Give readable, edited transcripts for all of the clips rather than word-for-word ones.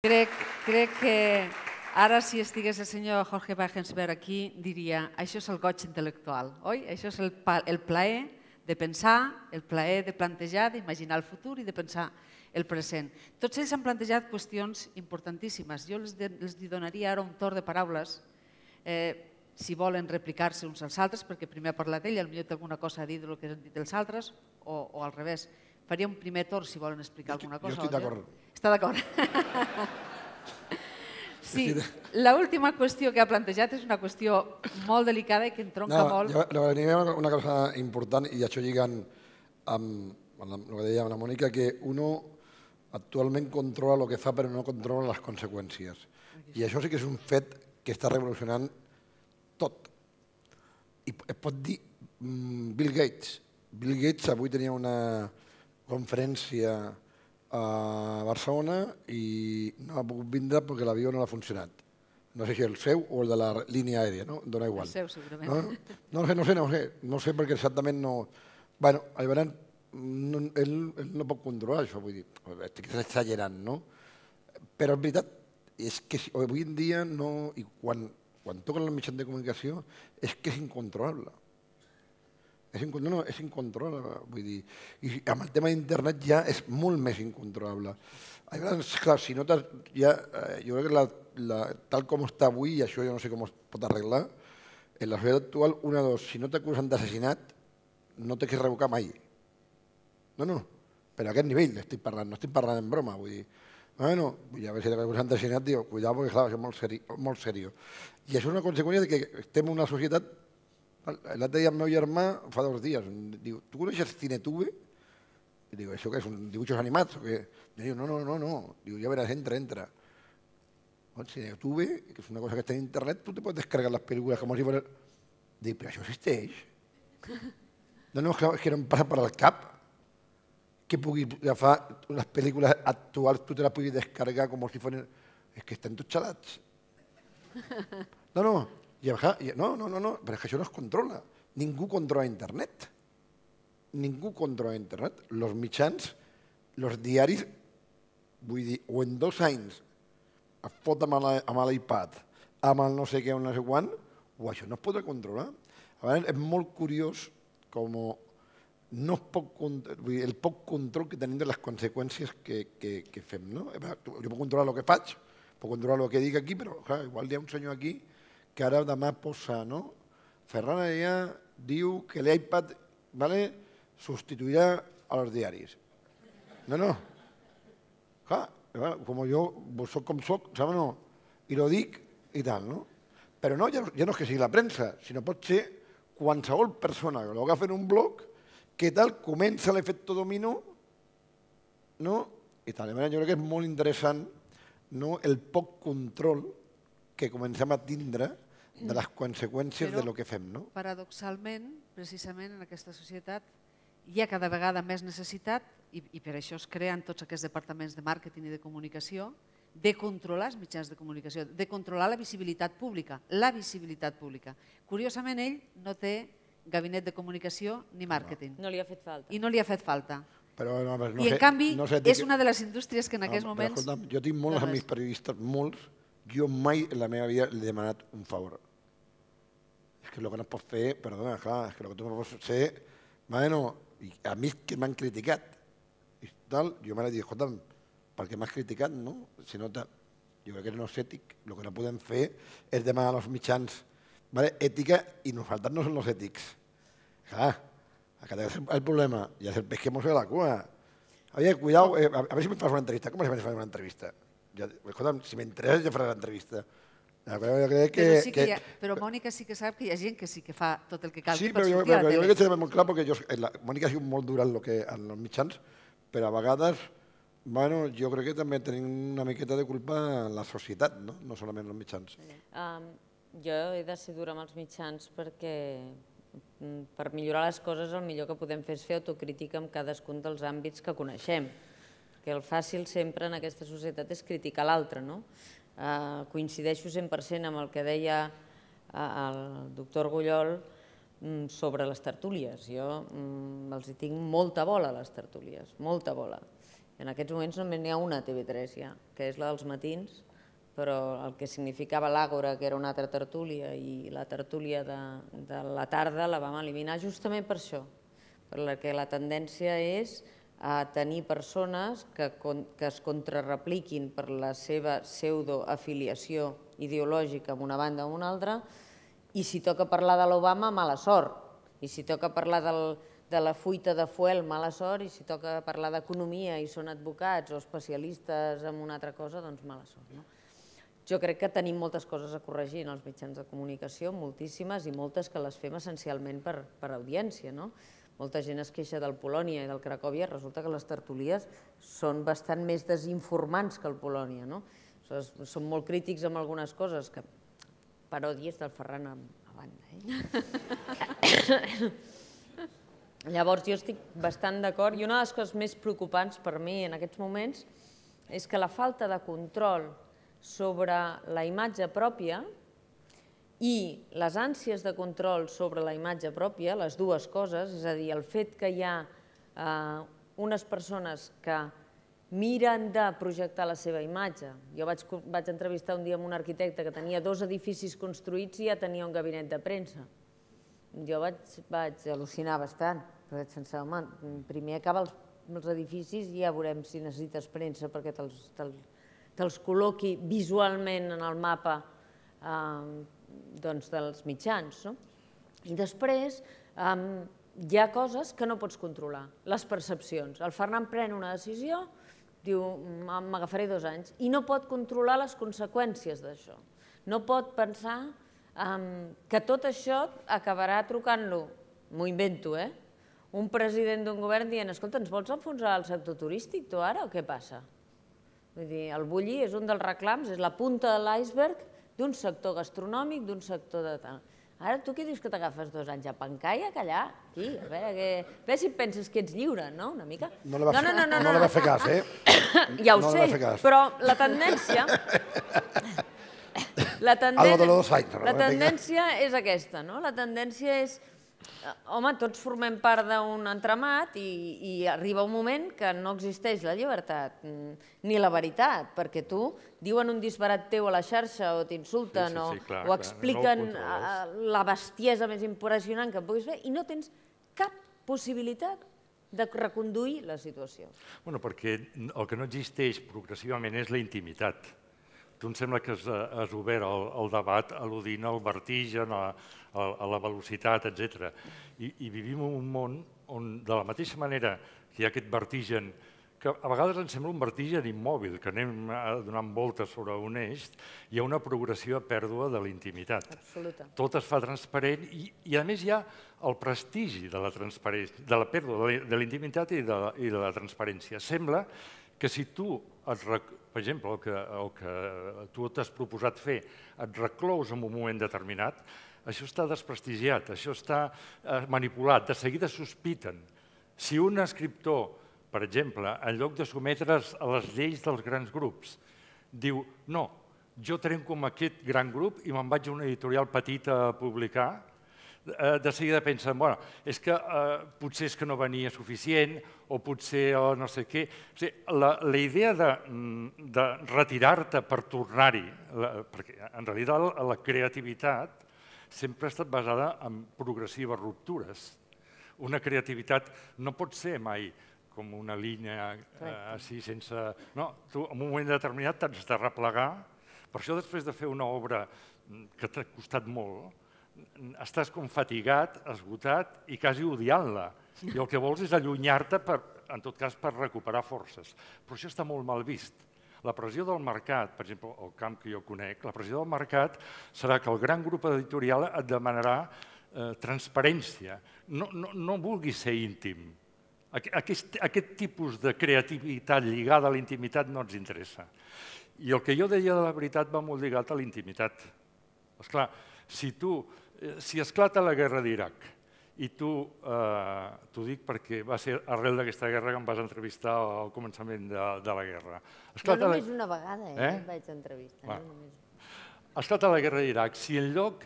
Crec que ara, si estigués el senyor Jorge Wagensberg aquí, diria això és el goig intel·lectual, oi? Això és el plaer de pensar, el plaer de plantejar, d'imaginar el futur i de pensar el present. Tots ells han plantejat qüestions importantíssimes. Jo els donaria ara un torn de paraules, si volen replicar-se uns als altres, perquè primer ha parlat ell, potser té alguna cosa a dir del que han dit els altres, o al revés. Faria un primer torn si volen explicar alguna cosa. Jo estic d'acord. Està d'acord? Sí, l'última qüestió que ha plantejat és una qüestió molt delicada i que entronca molt... Una cosa important, i això lligant amb el que deia la Mònica, que uno actualment controla el que fa però no controla les conseqüències. I això sí que és un fet que està revolucionant tot. I es pot dir Bill Gates. Bill Gates avui tenia una conferència a Barcelona i no ha pogut vindre perquè l'avió no ha funcionat. No sé si el seu o el de la línia aèria, no? Dóna igual. El seu, segurament. No sé perquè exactament no... Bueno, ell no pot controlar això, vull dir, estic exagerant, no? Però és veritat, és que avui en dia no... I quan toquen els mitjans de comunicació és que és incontrolable. És incontrolable, vull dir. I amb el tema d'internet ja és molt més incontrolable. Clar, si no jo crec que tal com està avui, i això jo no sé com es pot arreglar, en la societat actual, si no t'acusen d'assassinat, no t'has de revocar mai. No, però a aquest nivell estic parlant, no estic parlant en broma, vull dir. Bueno, a veure si t'acusen d'assassinat, diu, cuidado, perquè clar, això és molt seriós. I això és una conseqüència que estem en una societat. L'altre dia el meu germà, fa 2 dies, diu, tu coneixes Cinetube? I diu, això què és, dibuixos animats? I diu, no, diu, ja veràs, entra. Cinetube, que és una cosa que està en internet, tu te pots descarregar les pel·lícules com si fos... Dic, però això existeix? No, és que no em passa per al cap que pugui agafar les pel·lícules actuals, tu te les puguis descarregar com si fos... És que estan tots xalats. No, però és que això no es controla. Ningú controla internet. Ningú controla internet. Els mitjans, els diaris, vull dir, o en 2 anys es fot amb l'iPad, amb el no sé què, no sé quan, o això no es podrà controlar. A vegades és molt curiós com no es pot controlar, el poc control que tenim de les conseqüències que fem. Jo puc controlar el que faig, puc controlar el que dic aquí, però clar, igual hi ha un senyor aquí que ara demà posa, no? Ferran Adrià diu que l'iPad substituirà als diaris. No. Clar, com jo soc com soc, saps o no? I lo dic i tal, no? Però no, ja no és que sigui la premsa, sinó pot ser qualsevol persona que l'agafa en un blog que tal comença l'efecte dominó, no? I tal, jo crec que és molt interessant el poc control que comencem a tindre de les conseqüències del que fem. Paradoxalment, precisament en aquesta societat, hi ha cada vegada més necessitat, i per això es creen tots aquests departaments de màrqueting i de comunicació, de controlar els mitjans de comunicació, de controlar la visibilitat pública. La visibilitat pública. Curiosament, ell no té gabinet de comunicació ni màrqueting. No li ha fet falta. I no li ha fet falta. I en canvi, és una de les indústries que en aquests moments... Jo tinc molts amics periodistes, molts. Jo mai en la meva vida li he demanat un favor. És que el que no pots fer, perdona, clar, és que el que tu no pots fer... A mi que m'han criticat i tal, jo m'he dit, escolta'm, per què m'has criticat, no? Si no jo crec que no és ètic. El que no podem fer és demanar als mitjans ètica i nosaltres no som els ètics. Clar, aquest és el problema. Ja és el peix que mos ve la cua. Oye, cuidado, a ver si me fas una entrevista. ¿Cómo se me fa una entrevista? Escolta'm, si m'interessa ja faràs l'entrevista. Però Mònica sí que sap que hi ha gent que sí que fa tot el que cal per sortir a la tele. Sí, però jo crec que és molt clar perquè Mònica ha sigut molt dura en els mitjans, però a vegades jo crec que també tenim una miqueta de culpa en la societat, no solament els mitjans. Jo he de ser dura amb els mitjans perquè per millorar les coses el millor que podem fer és fer autocrítica en cadascun dels àmbits que coneixem. Que el fàcil sempre en aquesta societat és criticar l'altre, no? Coincideixo 100% amb el que deia el doctor Argullol sobre les tertúlies. Jo els hi tinc molta bola a les tertúlies, molta bola. En aquests moments només n'hi ha una a TV3 ja, que és la dels matins, però el que significava l'Àgora, que era una altra tertúlia, i la tertúlia de la tarda la vam eliminar justament per això, perquè la tendència és a tenir persones que es contrarrepliquin per la seva pseudoafiliació ideològica amb una banda o una altra, i si toca parlar de l'Obama, mala sort, i si toca parlar de la fuita de fuel, mala sort, i si toca parlar d'economia i són advocats o especialistes en una altra cosa, doncs mala sort. Jo crec que tenim moltes coses a corregir en els mitjans de comunicació, moltíssimes, i moltes que les fem essencialment per audiència. Molta gent es queixa del Polònia i del Cracòvia, resulta que les tertulies són bastant més desinformants que el Polònia. Són molt crítics amb algunes coses, que paròdies del Ferran a banda. Llavors jo estic bastant d'acord, i una de les coses més preocupants per mi en aquests moments és que la falta de control sobre la imatge pròpia i les ànsies de control sobre la imatge pròpia, les dues coses, és a dir, el fet que hi ha unes persones que miren de projectar la seva imatge. Jo vaig entrevistar un dia amb un arquitecte que tenia 2 edificis construïts i ja tenia un gabinet de premsa. Jo vaig al·lucinar bastant, perquè vaig pensar, home, primer acaba els edificis i ja veurem si necessites premsa perquè te'ls col·loqui visualment en el mapa dels mitjans. I després hi ha coses que no pots controlar, les percepcions. El Ferran pren una decisió, diu, m'agafaré 2 anys, i no pot controlar les conseqüències d'això. No pot pensar que tot això acabarà trucant-lo, m'ho invento, un president d'un govern dient, escolta, ens vols enfonsar el sector turístic tu ara o què passa? Vull dir, el bulli és un dels reclams, és la punta de l'iceberg d'un sector gastronòmic, d'un sector de tal. Ara tu què dius que t'agafes 2 anys a pencar i a callar? Aquí, a veure si et penses que ets lliure, no? Una mica? No li va fer cas, Ja ho sé, però la tendència... La tendència és aquesta, no? La tendència és... Home, tots formem part d'un entramat i arriba un moment que no existeix la llibertat ni la veritat, perquè tu diuen un disbarat teu a la xarxa o t'insulten o expliquen la bestiesa més impressionant que puguis fer i no tens cap possibilitat de reconduir la situació. Bueno, perquè el que no existeix progressivament és la intimitat. Tu em sembla que has obert el debat al·ludint al vertigen, a la velocitat, etc. I vivim en un món on, de la mateixa manera que hi ha aquest vertigen, que a vegades ens sembla un vertigen immòbil, que anem donant voltes sobre un eix, hi ha una progressiva pèrdua de la intimitat. Absoluta. Tot es fa transparent i a més hi ha el prestigi de la transparència, de la pèrdua de la intimitat i de la transparència. Sembla que si tu, per exemple, el que tu t'has proposat fer, et reclous en un moment determinat, això està desprestigiat, això està manipulat, de seguida sospiten. Si un escriptor, per exemple, en lloc de sotmetre's a les lleis dels grans grups, diu, no, jo trenco amb aquest gran grup i me'n vaig a una editorial petita a publicar, de seguida pensen, bueno, és que potser és que no venia suficient o potser no sé què. La idea de retirar-te per tornar-hi, perquè en realitat la creativitat sempre ha estat basada en progressives ruptures. Una creativitat no pot ser mai com una línia així sense... No, tu en un moment determinat t'has de replegar. Per això després de fer una obra que t'ha costat molt, estàs com fatigat, esgotat i quasi odiant-la. I el que vols és allunyar-te, en tot cas, per recuperar forces. Però això està molt mal vist. La pressió del mercat, per exemple, el camp que jo conec, la pressió del mercat serà que el gran grup editorial et demanarà transparència. No vulguis ser íntim. Aquest tipus de creativitat lligada a la intimitat no ens interessa. I el que jo deia de la veritat va molt lligat a la intimitat. Esclar, si esclata la guerra d'Iraq, i t'ho dic perquè va ser arrel d'aquesta guerra que em vas entrevistar al començament de la guerra. No només una vegada em vaig entrevistar. Esclata la guerra d'Iraq, si en lloc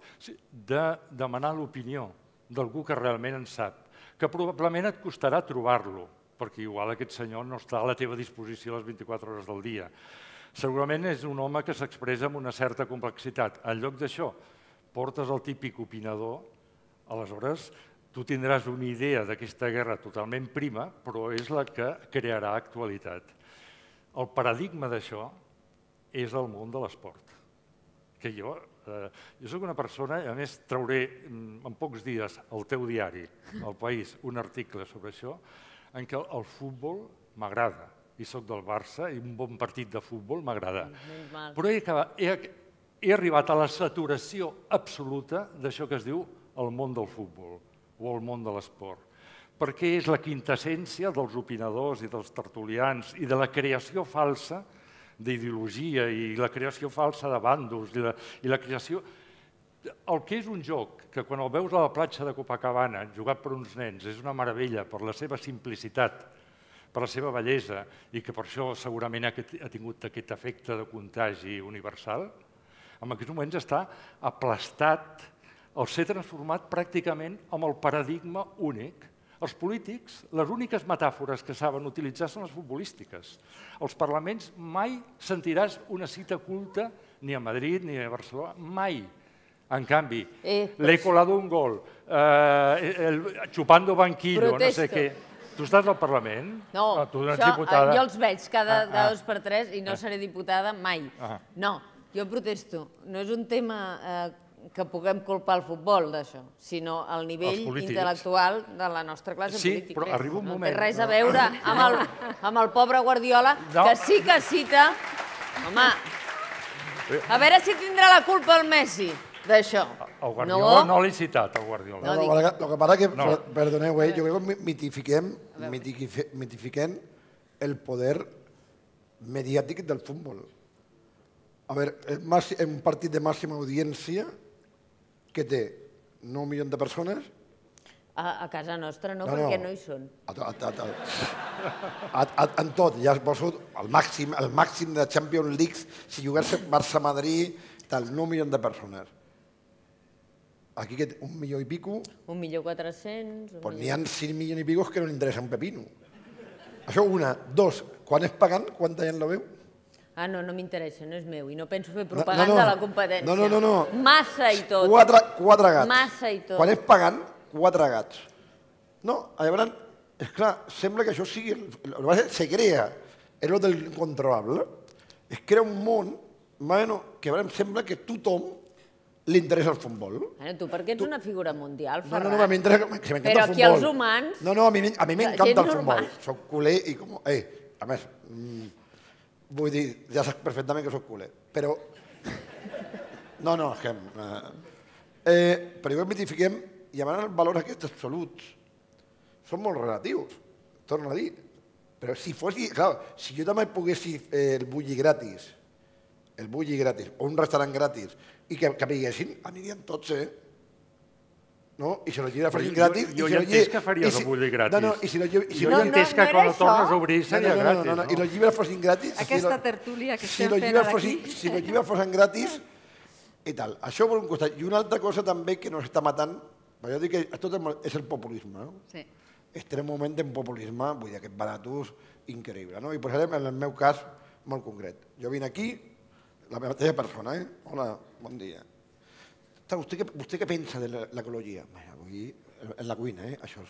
de demanar l'opinió d'algú que realment en sap, que probablement et costarà trobar-lo, perquè igual aquest senyor no està a la teva disposició les 24 hores del dia. Segurament és un home que s'expressa amb una certa complexitat. En lloc d'això, portes el típic opinador, aleshores tu tindràs una idea d'aquesta guerra totalment prima, però és la que crearà actualitat. El paradigma d'això és el món de l'esport. Que jo soc una persona, i a més trauré en pocs dies al teu diari, al País, un article sobre això, en què el futbol m'agrada. I soc del Barça i un bon partit de futbol m'agrada. Però he arribat a la saturació absoluta d'això que es diu el món del futbol o el món de l'esport, perquè és la quintessència dels opinadors i dels tertulians i de la creació falsa d'ideologia i la creació falsa de bàndols i la creació... El que és un joc, que quan el veus a la platja de Copacabana, jugat per uns nens, és una meravella per la seva simplicitat, per la seva bellesa, i que per això segurament ha tingut aquest efecte de contagi universal, en aquests moments està aplastat, el ser transformat pràcticament amb el paradigma únic. Els polítics, les úniques metàfores que saben utilitzar són les futbolístiques. Als parlaments mai sentiràs una cita culta, ni a Madrid ni a Barcelona, mai. En canvi, l'he colado un gol, chupando banquillo, no sé què. Tu estàs al Parlament? No, jo els veig cada 2 per 3 i no seré diputada mai. No, jo protesto. No és un tema que puguem culpar el futbol d'això, sinó el nivell intel·lectual de la nostra classe política. Sí, però arriba un moment... No té res a veure amb el pobre Guardiola, que sí que cita... Home, a veure si tindrà la culpa el Messi d'això. El Guardiola no l'he citat, el Guardiola. Lo que pasa que, perdoneu, jo crec que mitifiquem el poder mediàtic del futbol. A veure, un partit de màxima audiència que té 9 milions de persones... A casa nostra no, perquè no hi són. En tot, ja es poso el màxim de Champions League, si jugués Barça-Madrid, 9 milions de persones. Aquí que 1 milió i pico... 1.400.000... Doncs n'hi ha 5 milions i pico que no li interessa un pepino. Això una. 2, quan és pagant, quanta gent la veu? Ah, no, no m'interessa, no és meu, i no penso fer propaganda de la competència. No. Massa i tot. 4 gats. Massa i tot. Quan és pagant, 4 gats. No, llavors, és clar, sembla que això sigui... Se crea, és el del incontrolable. Es crea un món que sembla que a tothom li interessa el futbol. Tu perquè ets una figura mundial, Ferran. No, m'interessa el futbol. Però aquí els humans... No, a mi m'encanta el futbol. Soc culer i com... A més... Vull dir, ja saps perfectament que soc culer, però... No, és que... Però jo mitifiquem, i a vegades els valors aquests absoluts són molt relatius, torno a dir. Però si fos... Clar, si jo també poguessi el bulli gratis, o un restaurant gratis, i que veiessin, anirien tots, No? I si la llibre fossin gratis... Jo ja entès que faries el bulli gratis. Jo ja entès que quan el tornes a obrir seria gratis. I les llibres fossin gratis... Aquesta tertúlia que estem fent aquí... Si les llibres fossin gratis i tal. Això per un costat. I una altra cosa també que ens està matant, jo dic que tot és el populisme. Estem en un moment d'un populisme, vull dir, aquest baratus increïble. I posarem en el meu cas molt concret. Jo vinc aquí, la mateixa persona, Hola, bon dia. ¿Usted qué pensa de l'ecologia? Avui, en la cuina, això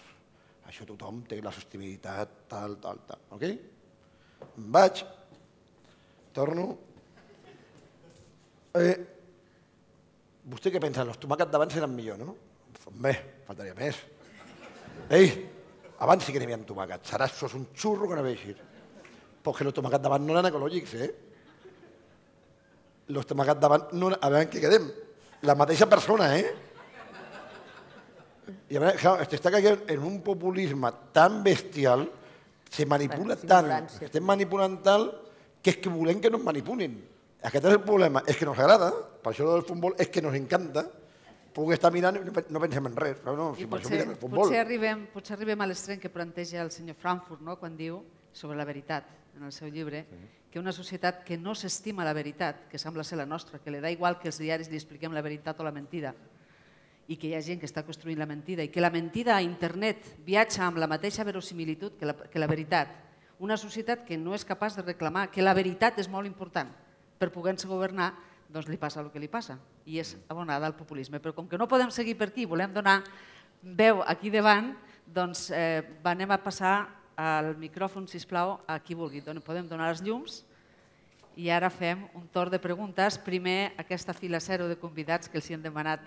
tothom té la sostenibilitat, tal, ok? Em vaig, torno. Vostè què pensa? Els tomàquets d'abans eren millor, no? Bé, faltaria més. Abans sí que n'hi havia tomàquets. Ara això és un xurro que no vegis. Perquè els tomàquets d'abans no eren ecològics, Els tomàquets d'abans no eren... A veure en què quedem. La mateixa persona, I a veure, clar, està caient en un populisme tan bestial, se manipula tant, estem manipulant tant, que és que volem que nos manipulin. Aquest és el problema, és que nos agrada, per això del futbol és que nos encanta, poder estar mirant i no pensem en res. Potser arribem a l'extrem que planteja el senyor Frankfurt, quan diu sobre la veritat, en el seu llibre, que una societat que no s'estima la veritat, que sembla ser la nostra, que li da igual que els diaris li expliquem la veritat o la mentida, i que hi ha gent que està construint la mentida i que la mentida a internet viatja amb la mateixa verosimilitud que la veritat. Una societat que no és capaç de reclamar que la veritat és molt important per poder-se governar, doncs li passa el que li passa i és abonada al populisme. Però com que no podem seguir per aquí, volem donar veu aquí davant, doncs anem a passar el micròfon, sisplau, a qui vulgui. Podem donar els llums i ara fem un torn de preguntes. Primer, aquesta fila zero de convidats que els han demanat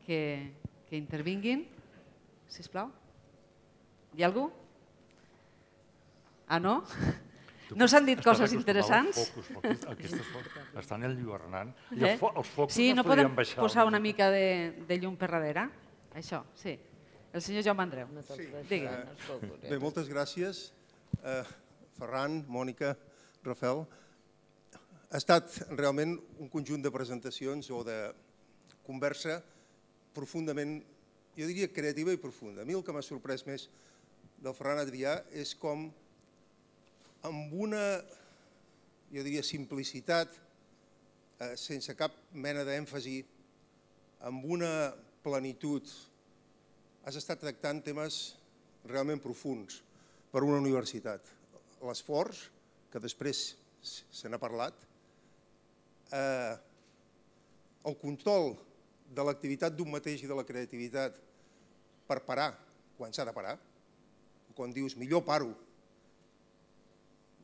que intervinguin. Sisplau. Hi ha algú? Ah, no? No s'han dit coses interessants? Estan enlluernant. Sí, no podem posar una mica de llum per darrere? Això, sí. El senyor Jaume Andreu. Bé, moltes gràcies. Ferran, Mònica, Rafael. Ha estat realment un conjunt de presentacions o de conversa profundament, jo diria creativa i profunda. A mi el que m'ha sorprès més del Ferran Adrià és com amb una, jo diria, simplicitat, sense cap mena d'èmfasi, amb una plenitud, has estat tractant temes realment profuns per una universitat. L'esforç, que després se n'ha parlat, el control de l'activitat d'un mateix i de la creativitat per parar quan s'ha de parar, quan dius millor paro,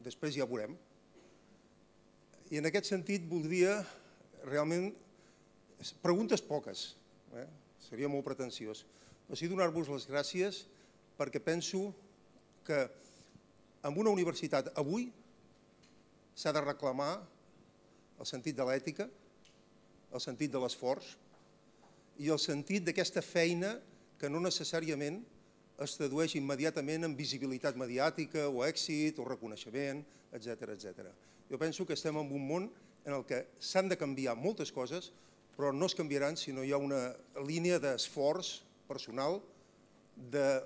després ja ho veurem. I en aquest sentit voldria realment, preguntes poques, seria molt pretensiós, però sí donar-vos les gràcies perquè penso que en una universitat avui s'ha de reclamar el sentit de l'ètica, el sentit de l'esforç i el sentit d'aquesta feina que no necessàriament es tradueix immediatament en visibilitat mediàtica o èxit o reconeixement, etc. Jo penso que estem en un món en el que s'han de canviar moltes coses, però no es canviaran si no hi ha una línia d'esforç personal, de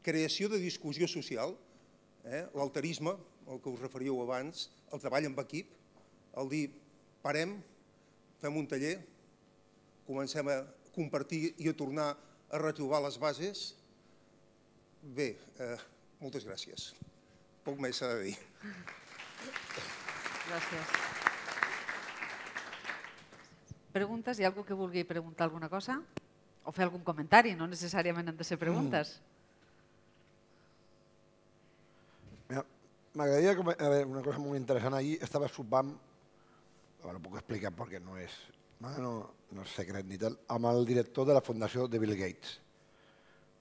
creació de discussió social, l'alterisme, al que us referíeu abans, el treball en equip, el dir parem, fem un taller, comencem a compartir i a tornar a retrobar les bases. Bé, moltes gràcies. Poc més s'ha de dir. Gràcies. Preguntes? Hi ha algú que vulgui preguntar alguna cosa? O fer algun comentari? No necessàriament han de ser preguntes. M'agradaria una cosa molt interessant. Ahir estava sopant, no puc explicar perquè no és secret ni tal, amb el director de la fundació de Bill Gates.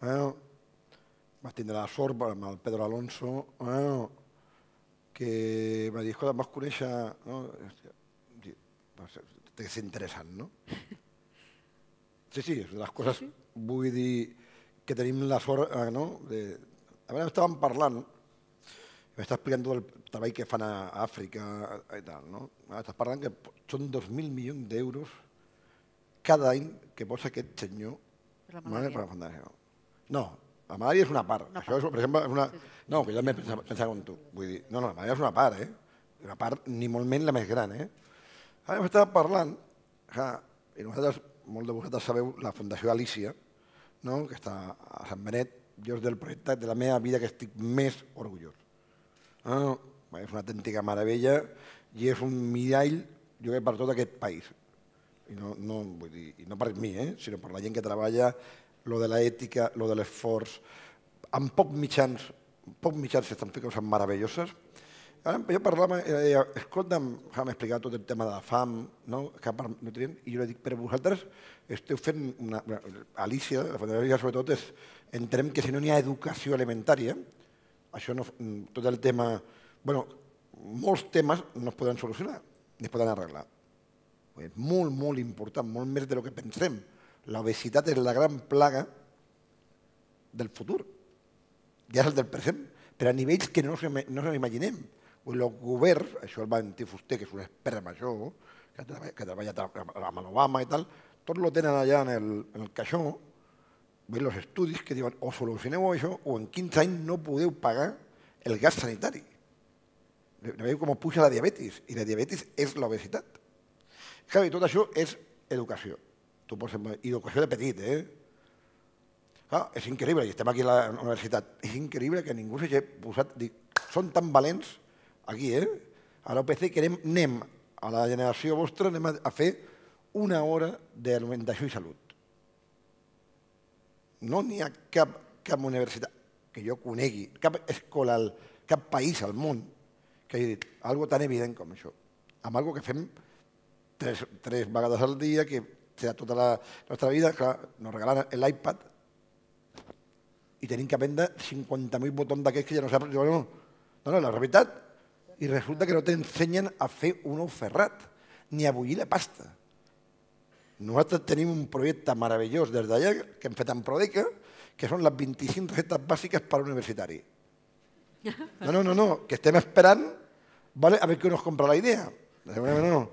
Vaig tindre la sort amb el Pedro Alonso, que va dir, escolta, em vas conèixer... És interessant, no? Sí, és de les coses, vull dir, que tenim la sort, no? A veure, estàvem parlant, m'està explicant tot el treball que fan a Àfrica i tal, no? Estàs parlant que són 2.000 milions d'euros cada any que posa aquest senyor per la fundació. No, la malària és una part. Això, per exemple, és una... No, que jo també pensava com tu. Vull dir, no, la malària és una part, Una part, ni molt menys la més gran, Ara m'estava parlant, i nosaltres, molts de vosaltres sabeu, la Fundació Alícia, que està a Sant Benet, jo és del projecte de la meva vida que estic més orgullós. És una autèntica meravella i és un mirall, jo crec, per tot aquest país. I no per mi, sinó per la gent que treballa, lo de l'ètica, lo de l'esforç. Amb pocs mitjans s'estan fent coses meravelloses. Jo parlava, escolta, m'ha explicat tot el tema de la fam, i jo li dic, però vosaltres esteu fent una... Alícia, la Fundació Alícia, sobretot, entenem que si no n'hi ha educació alimentària, això no... Tot el tema... Bueno, molts temes no es poden solucionar, ni es poden arreglar. És molt, molt important, molt més del que pensem. L'obesitat és la gran plaga del futur. Ja és el del present, però a nivells que no ens imaginem. El govern, això el va dir Fuster, que és un expert en això, que treballa amb l'Obama i tal, tot lo tenen allà en el caixó, veus els estudis que diuen o solucioneu això o en 15 anys no podeu pagar el gas sanitari. Veieu com puja la diabetis, i la diabetis és l'obesitat. I tot això és educació. tu pots... I educació de petit, És increïble, i estem aquí a la universitat, és increïble que ningú s'hagi posat... Són tan valents aquí, A l'OPC que anem a la generació vostra, anem a fer una hora d'alimentació i salut. No n'hi ha cap universitat que jo conegui, cap escola, cap país al món que hagi dit alguna tan evident com això. Amb alguna que fem tres vegades al dia, que serà tota la nostra vida, clar, nos regalen l'iPad i tenim que aprendre 50.000 botons d'aquests que ja no saps. No, la veritat. I resulta que no t'ensenyen a fer un ou ferrat, ni a bullir la pasta. Nosaltres tenim un projecte meravellós des d'allà, que hem fet en Prodeca, que són les 25 receptes bàsiques per a universitari. No, que estem esperant a veure qui nos compra la idea. No.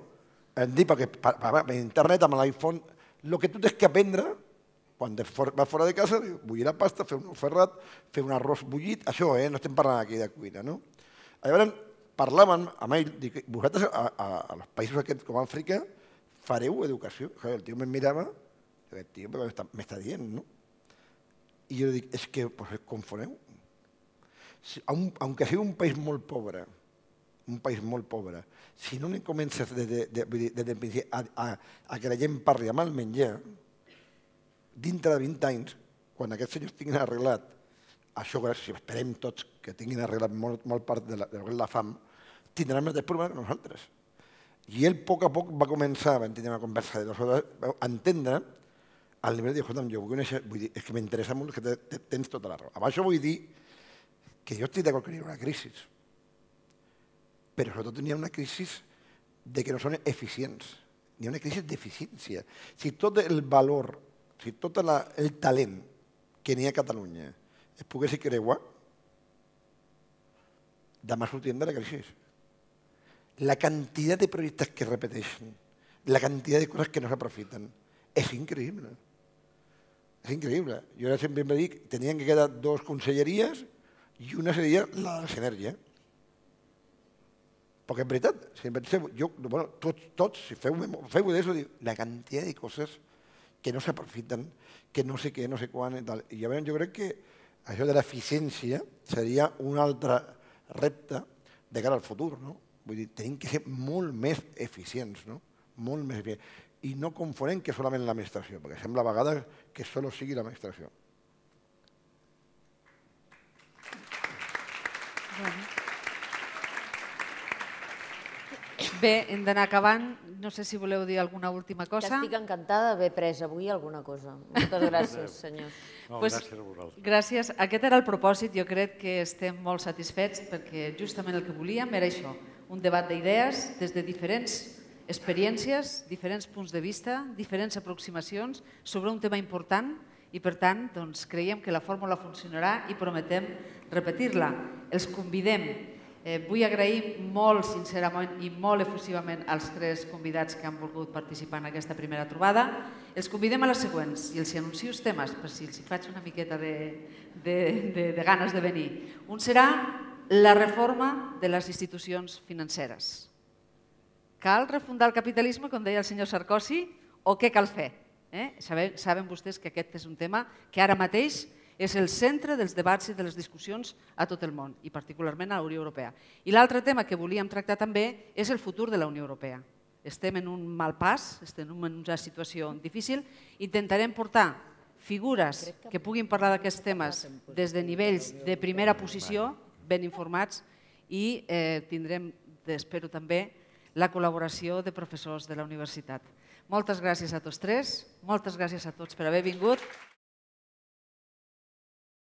Hem dit, perquè per internet, amb l'iPhone, el que tu tens que aprendre, quan vas fora de casa, bullir la pasta, fer un ou ferrat, fer un arròs bullit, això, no estem parlant aquí de cuina, no? Llavors, parlàvem amb ell, dic, vosaltres a els països aquests com Àfrica fareu educació? El tio em mirava, el tio m'està dient, no? I jo dic, és que confoneu. Aunque sigui un país molt pobre, si no comences des del principi a que la gent parli amb el menjar, dintre de 20 anys, quan aquests senyors tinguin arreglat això, si esperem tots que tinguin arreglat molt part de la fam, tindran el mateix problema que nosaltres. I ell, a poc a poc, va començar a tenir una conversa de 2 hores, a entendre al nivell de, escolta'm, jo vull conèixer, és que m'interessa molt que tens tota la raó. Amb això vull dir que jo estic d'acord que hi ha una crisi, però sobretot hi ha una crisi de que no són eficients. Hi ha una crisi d'eficiència. Si tot el valor, si tot el talent que n'hi ha a Catalunya es pogués creuar, demà sortirem de la crisi. La quantitat de projectes que es repeteixen, la quantitat de coses que no s'aprofiten, és increïble. És increïble. Jo sempre em dic que tenien que quedar 2 conselleries i una seria la de l'energia. Perquè en veritat, si penseu, tots, si feu d'això, la quantitat de coses que no s'aprofiten, que no sé què, no sé quan i tal. I llavors jo crec que això de l'eficiència seria un altre repte de cara al futur, no? Vull dir, tenim que ser molt més eficients, no? Molt més eficients. I no confonem que solament l'administració, perquè sembla a vegades que solo sigui l'administració. Bé, hem d'anar acabant. No sé si voleu dir alguna última cosa. Que estic encantada d'haver pres avui alguna cosa. Moltes gràcies, senyors. Gràcies a vosaltres. Gràcies. Aquest era el propòsit. Jo crec que estem molt satisfets perquè justament el que volíem era això, un debat d'idees des de diferents experiències, diferents punts de vista, diferents aproximacions sobre un tema important i, per tant, creiem que la fórmula funcionarà i prometem repetir-la. Els convidem. Vull agrair molt sincerament i molt efusivament als 3 convidats que han volgut participar en aquesta primera trobada. Els convidem a les següents i els anuncio els temes per si els faig una miqueta de ganes de venir. Un serà la reforma de les institucions financeres. Cal refundar el capitalisme, com deia el senyor Sarkozy, o què cal fer? Saben vostès que aquest és un tema que ara mateix és el centre dels debats i de les discussions a tot el món, i particularment a la Unió Europea. I l'altre tema que volíem tractar també és el futur de la Unió Europea. Estem en un mal pas, estem en una situació difícil, intentarem portar figures que puguin parlar d'aquests temes des de nivells de primera posició, ben informats, i tindrem, espero també, la col·laboració de professors de la universitat. Moltes gràcies a tots 3, moltes gràcies a tots per haver vingut.